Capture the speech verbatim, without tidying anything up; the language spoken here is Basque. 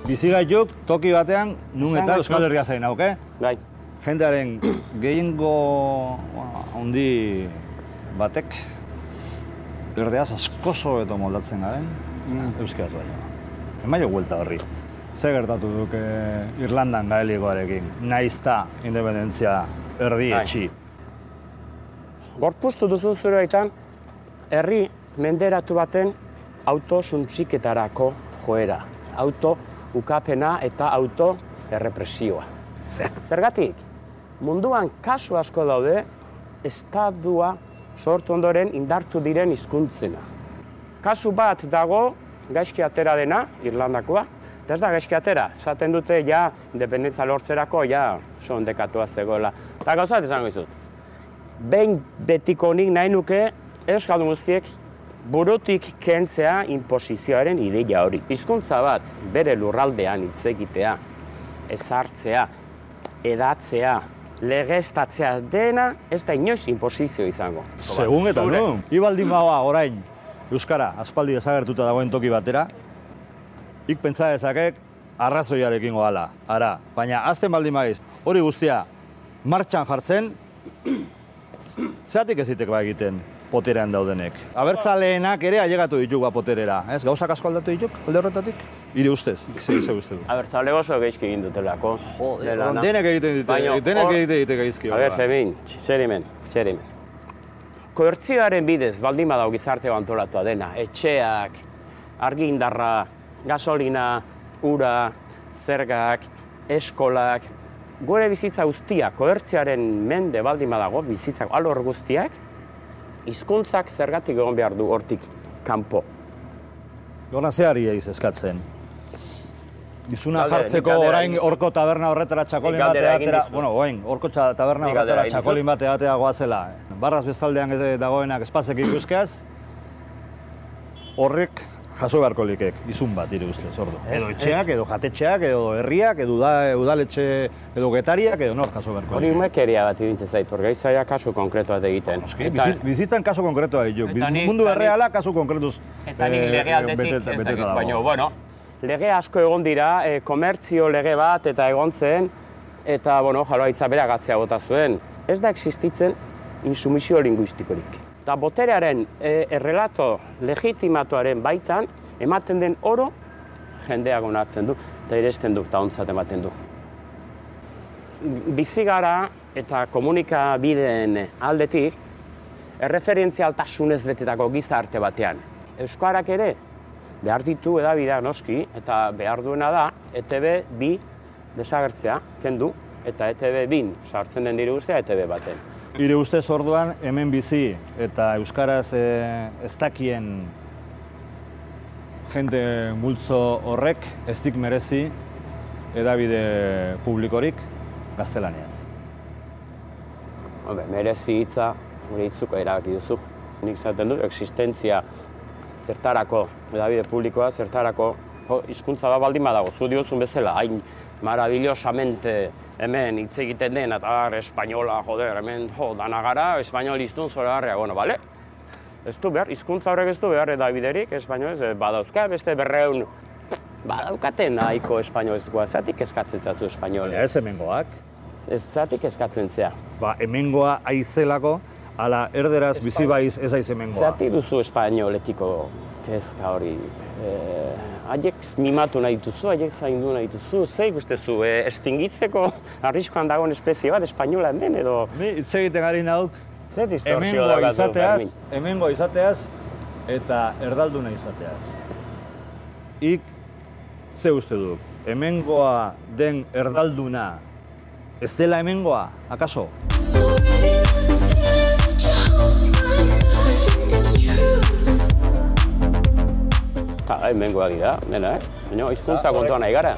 Bizigaituk toki batean, nun eta Euskal Herria zain hauk, eh? Bai. Jendearen gehiengo handi batek erdeaz askoso eta moldatzen garen, euskaraz baina. Emaio guelta horri. Ze gertatu duke Irlandan gaelikoarekin, naizta independentzia erdi etxi. Gorpuztu duzu zure baitan, herri menderatu baten auto suntsiketarako joera. Auto ukapena eta auto errepresioa. Zergatik, munduan kasu asko daude, estatua sortu ondoren indartu diren hizkuntzena. Kasu bat dago, gaizki atera dena, Irlandakoa, eta ez da gaizki atera. Esaten dute, ja, independentza lortzerako, ja, oso ondekatua zegoela. Eta gauzat esango izut. Behin betiko nik nahi nuke, euskaldun guztiek, burutik kentzea inposizioaren ideia hori. Hizkuntza bat, bere lurraldean hitz egitea, ezartzea, edatzea, legeztatzea dena, ez da inoiz inposizio izango. Segun eta nu. Ibaldin bagoa orain, euskara, aspaldi desagertuta dagoen toki batera, ik pentsa dezakek arrazoiarekin goala, ara. Baina azten baldin maiz, hori guztia martxan jartzen, zeatik ez ditek ba egiten poterean daudenek. Abertzaleenak ere ailegatu dituk poterera, ez? Gauzak asko aldatu dituk, alde horretatik? Ire ustez, ze uste du. Abertzale oso geizki egin dutelako. Joder, denek egiten dute, denek egiten dute gaizki. A ber, Femin, zer hemen, zer hemen. Koertzioaren bidez, baldin badau gizarte antolatua dena, etxeak, argindarra, gasolina, ura, zergak, eskolak, gure bizitza guztiak, koertzioaren mende baldin badago, bizitzak alor guztiak, hizkuntzak zergatik egon behar du hortik kanpo. Gona zeari eiz eskatzen. Izuna jartzeko orain horko taberna horretara txakolin batea atera, bueno, orain, horko taberna horretara txakolin batea atera goazela. Barraz bestaldean dagoenak espazek ikuskaz, horrek jaso beharko likek, izun bat, ire ustez, ordu. Edo etxeak, edo jatetxeak, edo herriak, edo udaletxe, edo getariak, edo nor jaso beharko likek. Hori umekeria bat irintzen zait, orgaitzaia kasu konkretu bat egiten. Bizitzan kasu konkretu bat dituk, mundu erreala kasu konkretuz eta nik lege aldetik ez dakit, baina, bueno, lege asko egon dira, komertzio lege bat eta egon zen, eta, bueno, Jaurlaritza bere agatzea bota zuen. Ez da existitzen insumisio linguistikorik. Eta boterearen errelato legitimatuaren baitan, ematen den oro, jendeak onartzen du, eta iresten du, eta ontzat ematen du. Bizigara eta komunikabideen aldetik, erreferentzialtasunez betetako gizarte batean. Euskarak ere, behar ditu edabideak noski, eta behar duena da, E Te Be bi desagertzea, kendu, eta E Te Be bin sartzen den dire guztia E Te Be baten. Ire ustez orduan, hemen bizi eta euskaraz ez dakien jende multzo horrek ez dik merezi edabide publikorik gaztelaniaz. Merezi hitza, hori hitzuko erabaki duzu. Nik zaten dut, existentzia zertarako, edabide publikoa zertarako, hizkuntza bat baldin badago, zu diozun bezala, hain maravillosamente hemen hitz egiten den, eta espainola, joder, hemen, jo, dana gara, espainol iztun zora garria, bueno, bale? Ez du behar, hizkuntza horrek ez du behar edabiderik, espainolez, badauzka, beste berreun, badaukaten nahiko espainolezkoa, zatik eskatzen zazu espainola. Ez hemengoak. Ez zatik eskatzen zea. Ba, hemengoa aizelako, ala erderaz bizi baiz ez aiz hemengoa. Zatik duzu espainoletiko kezka hori. Haiek mimatu nahi duzu, haiek zaindu nahi duzu, ze ikustezu, estingitzeko arriskoan dagoen espezie bat espainolan den edo... Ni hitz egiten gari nauk, hemengo izateaz, hemengo izateaz eta erdalduna izateaz. Ik, ze uste duk, hemengoa den erdalduna ez dela hemengoa, akaso? Hemengoa dira, dena, eh? Baina hizkuntza kontuan nahi gara.